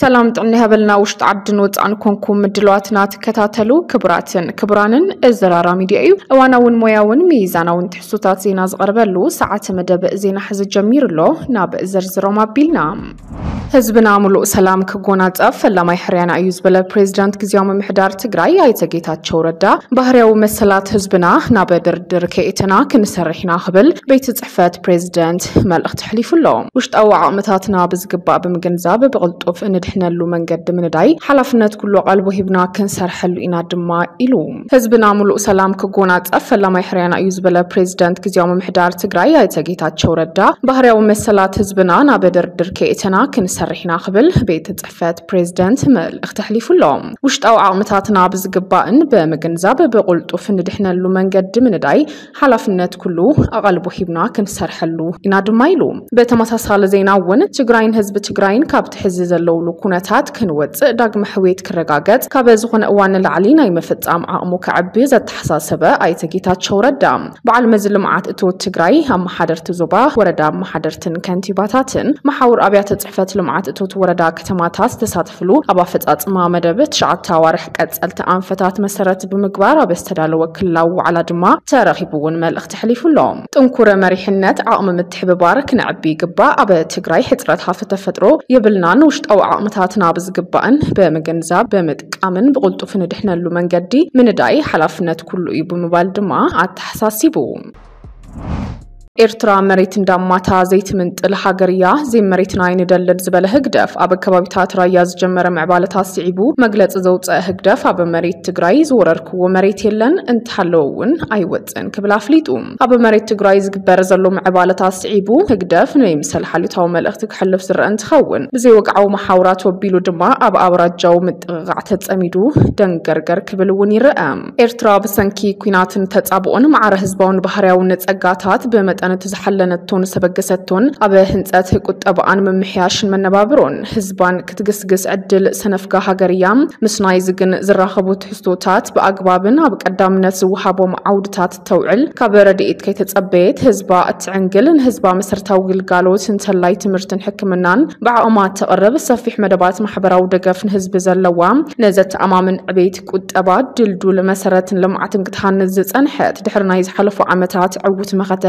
ሰላም ጥዕና ይሃበልና። ውሽጢ ዓድን ወፃእን ኮንኩም ምድለዋትና ትከታተሉ ክቡራትን ክቡራንን፣ እዚ ራራ ሚድያ እዩ። እዋናውን ሞያውን ሚዛናውን ትሕዝቶታት ዜና ዝቐርበሉ ሰዓት መደብ ዜና ሕዚ ጀሚሩ ኣሎ። ናብ ዝርዝሮም ኣቢልና። ህዝብና ሙሉእ ሰላም ክጎናጸፍ ፈላማይ ሕርያና እዩ ዝበለ ፕሬዚዳንት ግዝያዊ ምምሕዳር ትግራይ ኣይተ ጌታቸው ረዳ፣ ባህርያዊ መሰላት ህዝብና ናብ ድርድር ከየእተና ክንሰርሕ ኢና ክብል ቤት ጽሕፈት ፕሬዚዳንት መልእኽቲ ኣሕሊፉ ኣሎ። ውሽጣዊ ዓቕምታትና ብዝግባእ ብምግንዛብ ብቕልጡፍ እንድሕነሉ መንገዲ ምንዳይ ሓላፍነት ኩሉ ኣቓልቦ ሂብና ክንሰርሐሉ ኢና ድማ ኢሉ። ህዝብና ሙሉእ ሰላም ክጎናጸፍ ፈላማይ ሕርያና እዩ ዝበለ ፕሬዚዳንት ግዝያዊ ምምሕዳር ትግራይ ኣይተ ጌታቸው ረዳ፣ ባህርያዊ መሰላት ህዝብና ናብ ድርድር ከየእተና ክንሰርሕ ኢና ክብል ቤት ጽሕፈት ፕሬዚዳንት መልእኽቲ ኣሕሊፉ ኣሎ። ውሽጣዊ ዓቕምታትና ብዝግባእን ብምግንዛብ ብቕልጡፍ እንድሕነሉ መንገዲ ምንዳይ ሓላፍነት ኩሉ ኣቓልቦ ሂብና ክንሰርሐሉ ኢና ድማ ኢሉ። በተመሳሳሊ ዜና እውን ትግራይን ህዝቢ ትግራይን ካብቲ ሕዚ ዘለውሉ ኩነታት ክንወፅእ፣ ዳግመ ሕውየት ክረጋገፅ ካብ ዝኾነ እዋን ንላዕሊ ናይ ምፍፃም ዓቕሙ ከዕቢ ዘተሓሳሰበ ኣይተ ጌታቸው ረዳ፣ በዓል መዚ ልምዓት እቶት ትግራይ፣ ኣመሓደርቲ ዞባ፣ ወረዳ ኣመሓደርትን ከንቲባታትን መሓውር ኣብያተ ፅሕፈት ልምዓት እቶት ወረዳ ከተማታት ዝተሳተፍሉ ኣብ ኣፈፃፅማ መደብ ትሽዓተ ኣዋርሕ ቀፀልቲ ኣንፈታት መሰረት ብምግባር ኣብ ዝተዳለወ ክልላዊ ዋዕላ ድማ ተረኺቡ እውን መልእኽቲ ኣሕሊፉ ኣሎ። ጥንኩረ መሪሕነት፣ ዓቕሚ ምትሕብባር ክነዕቢ ይግባእ። ኣብ ትግራይ ሕፅረት ሃፍቲ ተፈጥሮ የብልናን። ውሽጣዊ ዓቕምታትና ብዝግባእን ብምግንዛብ ብምጥቃምን ብቕልጡፍ ንድሕነሉ መንገዲ ምንዳይ ሓላፍነት ኩሉ እዩ ብምባል ድማ ኣተሓሳሲቡ። ኤርትራ መሬት እንዳማታ ዘይትምንጥል ሃገር እያ፣ ዘይመሬትና ኣይንደልን ዝበለ ህግደፍ፣ ኣብ ከባቢታት ራያ ዝጀመረ ምዕባለታት ስዒቡ መግለጺ ዘውፀአ ህግደፍ፣ ኣብ መሬት ትግራይ ዝወረርክዎ መሬት የለን፣ እንተሃለወ እውን ኣይወፅእን ክብል ኣፍሊጡ። ኣብ መሬት ትግራይ ዝግበር ዘሎ ምዕባለታት ስዒቡ ህግደፍ ንይምሰል ሓልዮታዊ መልእኽቲ ክሕልፍ ዝረአ እንትኸውን፣ ብዘይወግዓዊ መሓውራት ወቢሉ ድማ ኣብ ኣውራጃዊ ምጥቕቓዕ ተጸሚዱ ደንገርገር ክብል እውን ይረአ። ኤርትራ ብሰንኪ ኲናትን ተጻብኦን ማዕረ ህዝባውን ባህርያውን ጸጋታት ብመጠን እቲ ዝሓለነቶን ዘበገሰቶን ኣብ ህንጸት ቁጠባኣን ምምሕያሽን መነባብሮን ህዝባን ክትግስግስ ዕድል ሰነፍጋ ሃገር እያ። ምስ ናይዚ ግን ዝራኸቡ ትሕዝቶታት ብኣግባብን ኣብ ቀዳምነት ዝወሃቦም ዓውድታት ተውዕል፣ ካብ ረድኤት ከይተጸበየት ህዝባ እትዕንግል፣ ንህዝባ መሰረታዊ ግልጋሎት እንተላይ ትምህርትን ሕክምናን ብዓቕማ ተቕርብ፣ ሰፊሕ መደባት ማሕበራዊ ደገፍ ንህዝቢ ዘለዋ፣ ንዘተኣማምን ዕቤት ቁጠባ ድልዱል መሰረትን ልምዓትን ክትሃንጽ ዝጸንሐት፣ ድሕሪ ናይ ዝሓለፉ ዓመታት ዕዉት መኸተ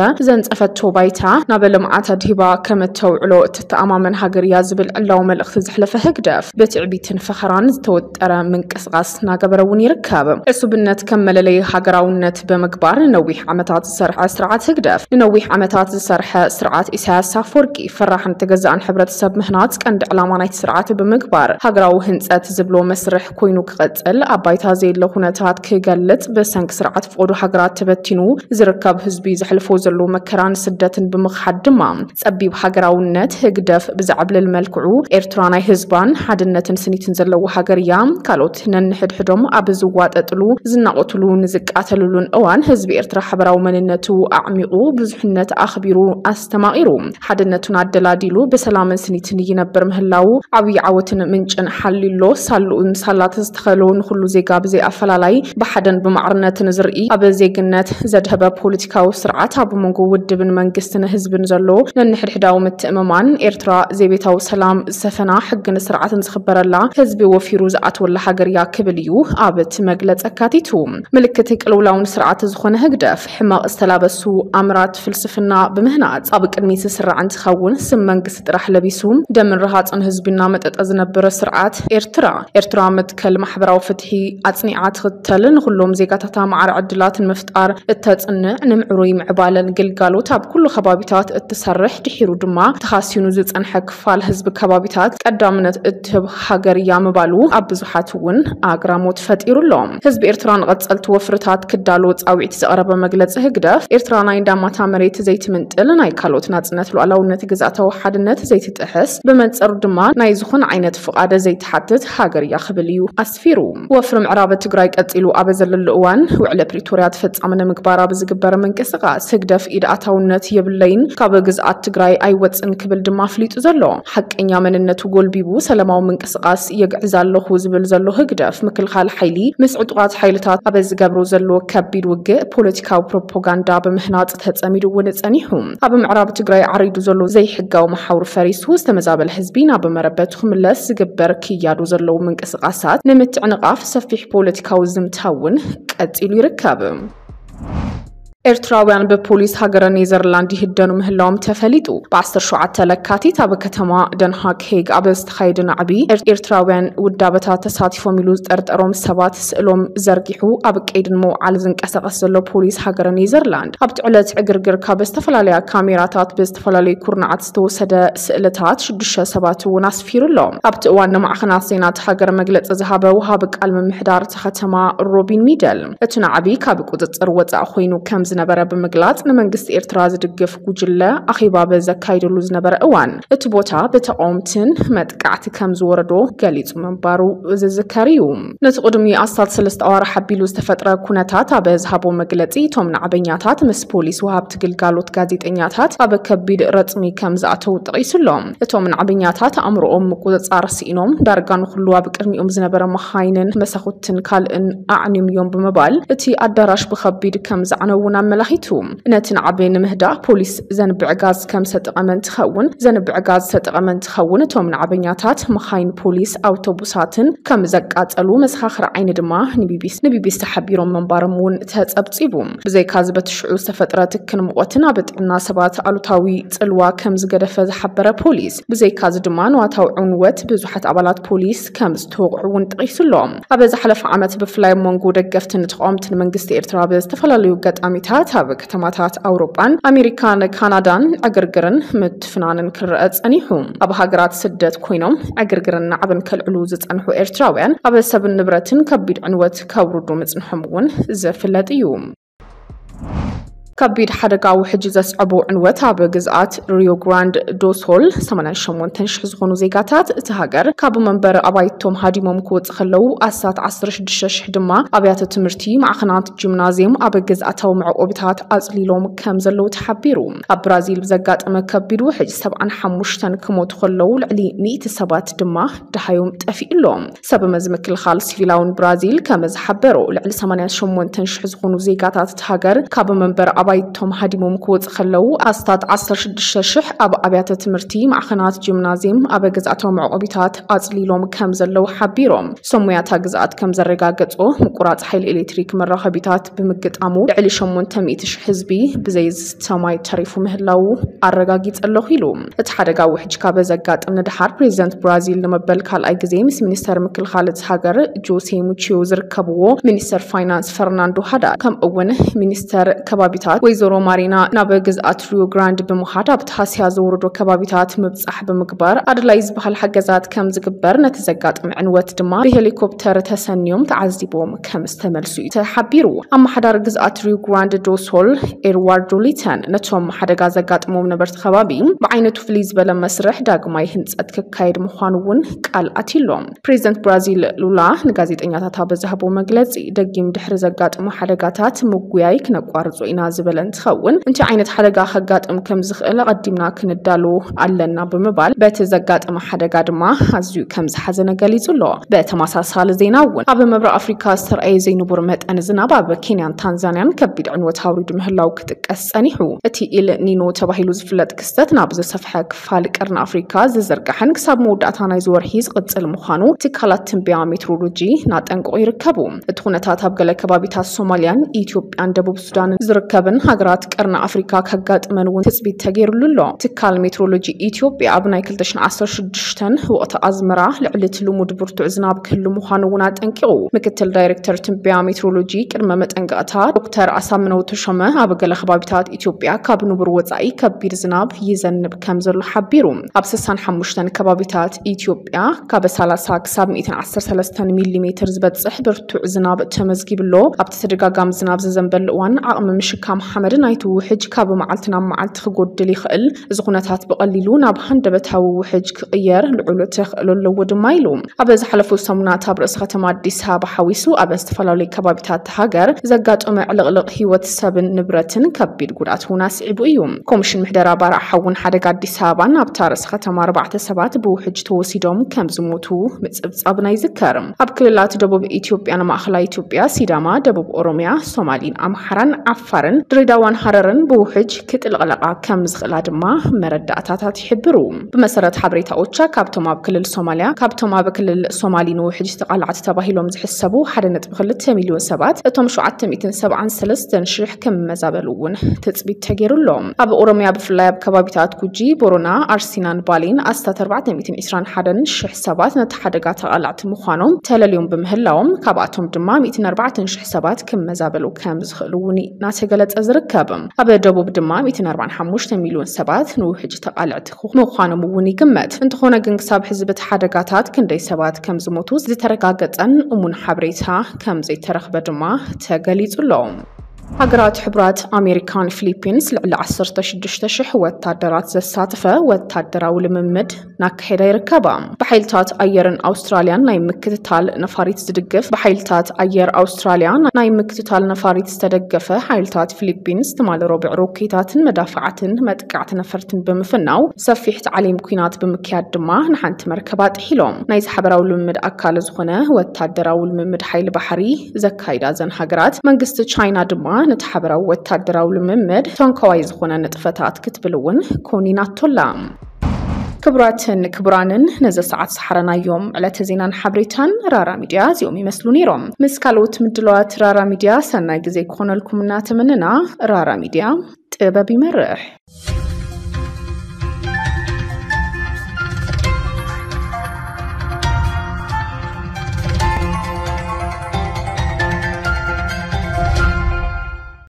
ዘንጸፈቶ ባይታ ናብ ልምዓት ኣድሂባ ከም እተውዕሎ እትተኣማመን ሃገር እያ ዝብል ዕላዊ መልእኽቲ ዘሕለፈ ህግደፍ፣ ብትዕቢትን ፈኸራን ዝተወጠረ ምንቅስቓስ እናገበረ እውን ይርከብ። ዕሱብነት ከም መለለዪ ሃገራውነት ብምግባር ንነዊሕ ዓመታት ዝሰርሐ ስርዓት ህግደፍ፣ ንነዊሕ ዓመታት ዝሰርሐ ስርዓት ኢሳያስ ኣፈወርቂ ፈራሕን ተገዛእን ሕብረተሰብ ምህናጽ ቀንዲ ዕላማ ናይቲ ስርዓት ብምግባር፣ ሃገራዊ ህንጸት ዝብሎ መስርሕ ኮይኑ ክቐጽል፣ ኣብ ባይታ ዘየለ ኩነታት ክገልጽ፣ ብሰንኪ ስርዓት ፈቐዶ ሃገራት ተበቲኑ ዝርከብ ህዝቢ ዘሕልፎ ዘሎ መከራን ስደትን ብምኽሓድ ድማ፣ ጸቢብ ሃገራውነት ህግደፍ ብዘዕብልል መልክዑ፣ ኤርትራ ናይ ህዝባን ሓድነትን ስኒትን ዘለዎ ሃገር እያ። ካልኦት ነንሕድሕዶም ኣብ ዝዋጠጥሉ፣ ዝናቖትሉ፣ ንዝቃተልሉን እዋን፣ ህዝቢ ኤርትራ ሓበራዊ መንነቱ ኣዕሚቑ፣ ብዙሕነት ኣኽቢሩ፣ ኣስተማቒሩ፣ ሓድነቱን ኣደላዲሉ፣ ብሰላምን ስኒትን ይነብር ምህላዉ ዓብዪ ዓወትን ምንጭን ሓልዩሎ። ሳልኡን ሳላት ዝተኸሎ ንኹሉ ዜጋ ብዘይ ኣፈላላይ ብሓደን ብማዕርነትን ዝርኢ፣ ኣብ ዜግነት ዘድሀበ ፖለቲካዊ ስርዓት፣ ኣብ መንጎ ውድብን መንግስትን ህዝብን ዘሎ ነንሕድሕዳዊ ምትእምማን፣ ኤርትራ ዘይቤታዊ ሰላም ዝሰፈና፣ ሕግን ስርዓትን ዝኽበረላ፣ ህዝቢ ወፊሩ ዝኣትወላ ሃገር እያ ክብል እዩ ኣብ እቲ መግለጺ ኣካቲቱ። ምልክት ቅልውላውን ስርዓት ዝኾነ ህግደፍ፣ ሕመቕ ዝተላበሱ ኣምራት ፍልስፍና ብምህናጽ ኣብ ቅድሚት ዝስራዕ እንትኸውን፣ ስም መንግስቲ ጥራሕ ለቢሱ፣ ደምን ረሃጽን ህዝቢ እናመጠጠ ዝነብር ስርዓት ኤርትራ፣ ኤርትራ መትከል ማሕበራዊ ፍትሒ ኣጽኒዓ ትኽተል፣ ንኹሎም ዜጋታታ ማዕረ ዕድላት ንምፍጣር እተጽንዕ፣ ንምዕሩይ ምዕባለን ግልጋሎት ኣብ ኩሉ ከባቢታት እትሰርሕ፣ ድሒሩ ድማ ተኻሲኑ ዝጸንሐ ክፋል ህዝቢ ከባቢታት ቀዳምነት እትህብ ሃገር እያ ምባሉ ኣብ ብዙሓት እውን ኣግራሞት ፈጢሩ ኣሎ። ህዝቢ ኤርትራ ንቐጸልቲ ወፍርታት ክዳሎ ጻውዒት ዘቕረበ መግለጺ ህግደፍ፣ ኤርትራ ናይ እንዳማታ መሬት ዘይትምንጥል፣ ናይ ካልኦት ናጽነት ሉዓላውነት ግዝኣታዊ ሓድነት ዘይትጥሕስ፣ ብመንጸሩ ድማ ናይ ዝኾነ ዓይነት ፍቓድ ዘይትሓትት ሃገር እያ ክብል እዩ ኣስፊሩ። ወፍሪ ምዕራብ ትግራይ ቀጺሉ ኣብ ዘለሉ እዋን፣ ውዕሊ ፕሪቶርያ ተፈጻሚ ንምግባር ኣብ ዝግበር ምንቅስቓስ ህግደፍ ኢድ ኣታውነት የብለይን፣ ካብ ግዝኣት ትግራይ ኣይወፅን ክብል ድማ ኣፍሊጡ ዘሎ። ሓቀኛ መንነቱ ጎልቢቡ ሰላማዊ ምንቅስቃስ የግዕዝ ኣለኹ ዝብል ዘሎ ህግደፍ፣ ምክልኻል ሓይሊ ምስ ዕጡቓት ሓይልታት ኣብ ዝገብሮ ዘሎ ከቢድ ውግእ ፖለቲካዊ ፕሮፓጋንዳ ብምህናፅ ተፀሚዱ እውን ጸኒሑ። ኣብ ምዕራብ ትግራይ ዓሪዱ ዘሎ ዘይሕጋዊ መሓውር ፈሪሱ ዝተመዛበለ ህዝቢ ናብ መረበቱ ክምለስ ዝግበር ክያዶ ዘለዉ ምንቅስቃሳት ንምትዕንቓፍ ሰፊሕ ፖለቲካዊ ዝምታ እውን ቀፂሉ ይርከብ። ኤርትራውያን ብፖሊስ ሃገረ ኔዘርላንድ ይህደኑ ምህላዎም ተፈሊጡ። ብ ዓሰርተ ሸውዓተ ለካቲት ኣብ ከተማ ደንሃግ ሄግ ኣብ ዝተኻየደ ናዕቢ ኤር-፣ ኤርትራውያን ውዳበታት ተሳቲፎም ኢሉ ዝጠርጠሮም ሰባት ስእሎም ዘርጊሑ ኣብ ቀይዲ ንምውዓል ዝንቀሳቐስ ዘሎ ፖሊስ ሃገረ ኔዘርላንድ፣ ኣብቲ ዕለት ዕግርግር ካብ ዝተፈላለያ ካሜራታት ብዝተፈላለዩ ኩርናዓት ዝተወሰደ ስእልታት ሽዱሽተ ሰባት እውን ኣስፊሩ ኣሎ። ኣብቲ እዋን ንማዕኸናት ዜና እቲ ሃገር መግለጺ ዝሃበ ወሃቢ ቃል ምምሕዳር እታ ከተማ ሮቢን ሚደል፣ እቲ ናዕቢ ካብ ቁጽጽር ወጻኢ ኮይኑ ከም ዝነበረ ብምግላጽ፣ ንመንግስቲ ኤርትራ ዝድግፍ ጉጅለ ኣኼባ በዘካይደሉ ዝነበረ እዋን፣ እቲ ቦታ ብተቓወምትን መጥቃዕቲ ከም ዝወረዶ ገሊጹ ምንባሩ ዝዝከር እዩ። ነቲ ቅድሚ ኣስታት ሰለስተ ኣዋርሕ ኣቢሉ ዝተፈጥረ ኩነታት ኣብ ዝሃቦ መግለጺ፣ እቶም ናዕበኛታት ምስ ፖሊስ፣ ወሃብቲ ግልጋሎት፣ ጋዜጠኛታት ኣብ ከቢድ ረጽሚ ከም ዝኣተዉ ጠቒሱ ኣሎ። እቶም ናዕበኛታት ኣእምሮኦም ምቁጽጻር ስኢኖም፣ ዳርጋ ንኹሉ ኣብ ቅድሚኦም ዝነበረ መኻይንን መሳኹትን ካልእን ኣዕንዮም እዮም ብምባል፣ እቲ ኣዳራሽ ብኸቢድ ከም ዘዕነዉ እውን ኣመላኺቱ። ነቲ ናዕቢ ንምህዳእ ፖሊስ ዘንብዕ ጋዝ ከም ዝተጠቐመ እንትኸውን፣ ዘንብዕ ጋዝ ዝተጠቐመ እንትኸውን፣ እቶም ናዕበኛታት መኻይን ፖሊስ፣ ኣውቶቡሳትን ከም ዘቃጸሉ መሰኻኽር ዓይኒ ድማ ንቢቢሲ፣ ንቢቢሲ ሓቢሮም ምንባሮም እውን ተጸብጺቡ። ብዘይካዚ በቲ ሽዑ ዝተፈጥረ ትክን ሙቐትን ኣብ ጥዕና ሰባት ኣሉታዊ ጽልዋ ከም ዝገደፈ ዝሓበረ ፖሊስ፣ ብዘይካዚ ድማ ንዋታዊ ዕንወት ብዙሓት ኣባላት ፖሊስ ከም ዝተወቕዑ እውን ጠቒሱ ኣሎ። ኣብ ዝሓለፈ ዓመት ብፍላይ ኣብ መንጎ ደገፍትን ተቓወምትን መንግስቲ ኤርትራ ኣብ ዝተፈላለዩ ኣጋጣሚታት ኣብ ከተማታት ኣውሮጳን ኣሜሪካን ካናዳን ዕግርግርን ምትፍናንን ክረአ ጸኒሑ። ኣብ ሃገራት ስደት ኮይኖም ዕግርግርን ናዕብን ከልዕሉ ዝጸንሑ ኤርትራውያን ኣብ ሰብን ንብረትን ከቢድ ዕንወት ከውርዱ ምጽንሖም እውን ዝፍለጥ እዩ። ከቢድ ሓደጋ ውሕጅ ዘስዐቦ ዕንወት ኣብ ግዝኣት ሪዮ ግራንድ ዶ ሶል ሰማንያን ሸሞንተን ሽሕ ዝኾኑ ዜጋታት እቲ ሃገር ካብ መንበሪ ኣባይቶም ሃዲሞም ክወጽእ ከለዉ ኣስታት ዓሰርተ ሽዱሽተ ሽሕ ድማ ኣብያተ ትምህርቲ፣ ማዕኸናት ጂምናዝየም ኣብ ግዝኣታዊ መዕቆቢታት ኣጽሊሎም ከም ዘለዉ ተሓቢሩ። ኣብ ብራዚል ብዘጋጠመ ከቢድ ውሕጅ ሰብዓን ሓሙሽተን ክሞቱ ከለዉ ልዕሊ ሚእቲ ሰባት ድማ ደሃዮም ጠፊኡ ኣሎ። ሰብ መዚ ምክልኻል ሲቪላውን ብራዚል ከም ዝሓበሮ፣ ልዕሊ ሰማንያን ሸሞንተን ሽሕ ዝኾኑ ዜጋታት እቲ ሃገር ካብ መንበሪ ኣባይቶም ሃዲሞም ክወጽእ ከለዉ ኣስታት ዓሰርተ ሽዱሽተ ሽሕ ኣብ ኣብያተ ትምህርቲ፣ ማዕኸናት ጂምናዝየም፣ ኣብ ግዝኣታዊ መዕቆቢታት ኣጽሊሎም ከም ዘለዉ ሓቢሮም። ሰሙያታ ግዝኣት ከም ዘረጋገጾ፣ ምቁራጽ ሓይሊ ኤሌክትሪክ መራኸቢታት ብምግጣሙ ልዕሊ ሸሞንተ ሚእቲ ሽሕ ህዝቢ ብዘይ ዝስተ ማይ ተሪፉ ምህላዉ ኣረጋጊጸ ኣለኹ ኢሉ። እቲ ሓደጋ ውሕጅ ካብ ዘጋጥም ንደሓር ፕሬዚደንት ብራዚል ንመበል ካልኣይ ግዜ ምስ ሚኒስተር ምክልኻል እቲ ሃገር ጆሴ ሙቺዮ ዝርከብዎ ሚኒስተር ፋይናንስ ፈርናንዶ ሃዳድ፣ ከምኡ እውን ሚኒስተር ከባቢታት ወይዘሮ ማሪና ናብ ግዝኣት ሪዮ ግራንድ ብምኻድ ኣብቲ ሃስያ ዘውረዶ ከባቢታት ምብጻሕ ብምግባር ኣድላይ ዝበሃል ሓገዛት ከም ዝግበር፣ ነቲ ዘጋጥም ዕንወት ድማ ብሄሊኮፕተር ተሰንዮም ተዓዚቦም ከም ዝተመልሱ እዩ ተሓቢሩ። ኣመሓዳሪ ግዝኣት ሪዮ ግራንድ ዶ ሶል ኤድዋርዶ ሊተን ነቶም ሓደጋ ዘጋጥሞም ነበርቲ ከባቢ ብዓይነቱ ፍልይ ዝበለ መስርሕ ዳግማይ ህንጸት ክካየድ ምዃኑ እውን ቃል ኣትዩሎም። ፕሬዚደንት ብራዚል ሉላ ንጋዜጠኛታት ኣብ ዝሃቦ መግለጺ፣ ደጊም ድሕሪ ዘጋጥሙ ሓደጋታት ምጉያይ ክነቋርጾ ኢና ዝበለ እንትኸውን፣ እንታይ ዓይነት ሓደጋ ከጋጥም ከም ዝኽእል ኣቐዲምና ክንዳሎ ኣለና ብምባል፣ በቲ ዘጋጠመ ሓደጋ ድማ ኣዝዩ ከም ዝሓዘነ ገሊጹ ኣሎ። በተመሳሳሊ ዜና እውን፣ ኣብ ምብራቕ ኣፍሪካ ዝተርኣየ ዘይንቡር መጠን ዝናብ ኣብ ኬንያን ታንዛንያን ከቢድ ዕንወት ኣውሪዱ ምህላው ክጥቀስ ጸኒሑ። እቲ ኢል ኒኖ ተባሂሉ ዝፍለጥ ክስተት ናብ ዝሰፍሐ ክፋል ቀርኒ ኣፍሪካ ዝዝርጋሕን ክሳብ መወዳእታ ናይዚ ወርሒ ዝቕጽል ምዃኑ ትካላት ትንበያ ሜትሮሎጂ እናጠንቀቑ ይርከቡ። እቲ ኩነታት ኣብ ገለ ከባቢታት ሶማልያን ኢትዮጵያን ደቡብ ሱዳንን ዝርከብን ሃገራት ቀርኒ ኣፍሪካ ከጋጥመን እውን ትጽቢት ተገይሩሉ ኣሎ። ትካል ሜትሮሎጂ ኢትዮጵያ ኣብ ናይ ክልተ ሽሕን ዓሰርተ ሽዱሽተን ወቕቲ ኣዝመራ ልዕሊ እቲ ልሙድ ብርቱዕ ዝናብ ክህሉ ምዃኑ እውን ኣጠንቂቑ። ምክትል ዳይሬክተር ትንበያ ሜትሮሎጂ ቅድመ መጠንቀቕታ ዶክተር ኣሳምነው ተሾመ፣ ኣብ ገለ ከባቢታት ኢትዮጵያ ካብ ንቡር ወጻኢ ከቢድ ዝናብ ይዘንብ ከም ዘሎ ሓቢሩ። ኣብ ስሳን ሓሙሽተን ከባቢታት ኢትዮጵያ ካብ ሰላሳ ክሳብ ሚእትን ዓሰርተ ሰለስተን ሚሊ ሜትር ዝበጽሕ ብርቱዕ ዝናብ ተመዝጊቡ ኣሎ። ኣብቲ ተደጋጋሚ ዝናብ ዝዘንበሉ እዋን ዓቕሚ ምሽካም መሓመድ፣ ናይቲ ውሕጅ ካብ መዓልቲ ናብ መዓልቲ ክጎድል ይኽእል፣ እዚ ኩነታት ብቐሊሉ ናብ ሃንደበታዊ ውሕጅ ክቕየር ልዑል ተኽእሎ ኣለዎ ድማ ኢሉ። ኣብ ዝሓለፉ ሰሙናት ኣብ ርእሰ ከተማ ኣዲስ ኣበባ ሓዊሱ ኣብ ዝተፈላለዩ ከባቢታት ሃገር ዘጋጠመ ዕልቕልቕ ህይወት ሰብን ንብረትን ከቢድ ጉድኣት እውን ኣስዒቡ እዩ። ኮሚሽን ምሕደራ ባርዕ ሓውን ሓደጋ ኣዲስ ኣበባን ኣብታ ርእሰ ከተማ ኣርባዕተ ሰባት ብውሕጅ ተወሲዶም ከም ዝሞቱ ምጽብጻብና ይዝከር። ኣብ ክልላት ደቡብ ኢትዮጵያን ማእኸላይ ኢትዮጵያ፣ ሲዳማ፣ ደቡብ ኦሮሚያ፣ ሶማሊን ኣምሓራን ዓፋርን ድሬዳዋን ሃረርን ብውሕጅ ክጥልቕለቓ ከም ዝኽእላ ድማ መረዳእታታት ይሕብሩ። ብመሰረት ሓበሬታ ኦቻ፣ ካብቶም ኣብ ክልል ሶማሊያ፣ ካብቶም ኣብ ክልል ሶማሊ ንውሕጅ ተቓላዕቲ ተባሂሎም ዝሕሰቡ ሓደ ነጥቢ ክልተ ሚልዮን ሰባት፣ እቶም ሸውዓተ ሚእትን ሰብዓን ሰለስተን ሽሕ ክመዛበሉ እውን ትጽቢት ተገይሩሎም። ኣብ ኦሮሚያ፣ ብፍላይ ኣብ ከባቢታት ጉጂ፣ ቦሮና፣ ኣርሲናን ባሌን ኣስታት ኣርባዕተ ሚእትን ዕስራን ሓደን ሽሕ ሰባት ነቲ ሓደጋ ተቓላዕቲ ምዃኖም ተለልዮም ብምህላዎም፣ ካብኣቶም ድማ ሚእትን ኣርባዕተን ሽሕ ሰባት ክመዛበሉ ከም ዝኽእሉ እውን እናተገለጸ ዝርከብ። ኣብ ደቡብ ድማ ሚእትን ኣርባዓን ሓሙሽተ ሚልዮን ሰባት ንውሕጅ ተቓልዕቲ ምዃኖም እውን ይግመት። እንተኾነ ግን፣ ክሳብ ሕዚ በቲ ሓደጋታት ክንደይ ሰባት ከም ዝሞቱ ዝተረጋገጸን እሙን ሓበሬታ ከም ዘይተረኽበ ድማ ተገሊጹ ኣሎ። ሃገራት ሕቡራት ኣሜሪካን ፊሊፒንስ ልዕሊ ዓሰርተ ሽዱሽተ ሽሕ ወታደራት ዘሳተፈ ወታደራዊ ልምምድ እናካየዳ ይርከባ። ብሓይልታት ኣየርን ኣውስትራልያን ናይ ምክትታል ነፋሪት ዝድግፍ፣ ብሓይልታት ኣየር ኣውስትራልያ ናይ ምክትታል ነፋሪት ዝተደገፈ፣ ሓይልታት ፊሊፒንስ ትማሊ ረቡዕ ሮኬታትን መዳፍዓትን መጥቃዕቲ ነፈርትን ብምፍናው ሰፊሕ ታዕሊም ኲናት ብምክያድ ድማ ንሓንቲ መርከብ ኣጥሒሎም። ናይዚ ሓበራዊ ልምምድ ኣካል ዝኾነ ወታደራዊ ልምምድ ሓይሊ ባሕሪ ዘካይዳ እዘን ሃገራት፣ መንግስቲ ቻይና ድማ ነቲ ሓበራዊ ወታደራዊ ልምምድ ተንኮዋይ ዝኾነ ንጥፈታት ክትብል እውን ኮኒናቶላ። ክቡራትን ክቡራንን፣ ነዚ ሰዓት ዝሓረናዮም ዕለተ ዜናን ሓበሬታን ራራ ሚድያ እዚኦም ይመስሉ ነይሮም። ምስ ካልኦት ምድላዋት ራራ ሚድያ ሰናይ ግዜ ክኾነልኩም እናተመነና፣ ራራ ሚድያ ጥበብ ይመርሕ።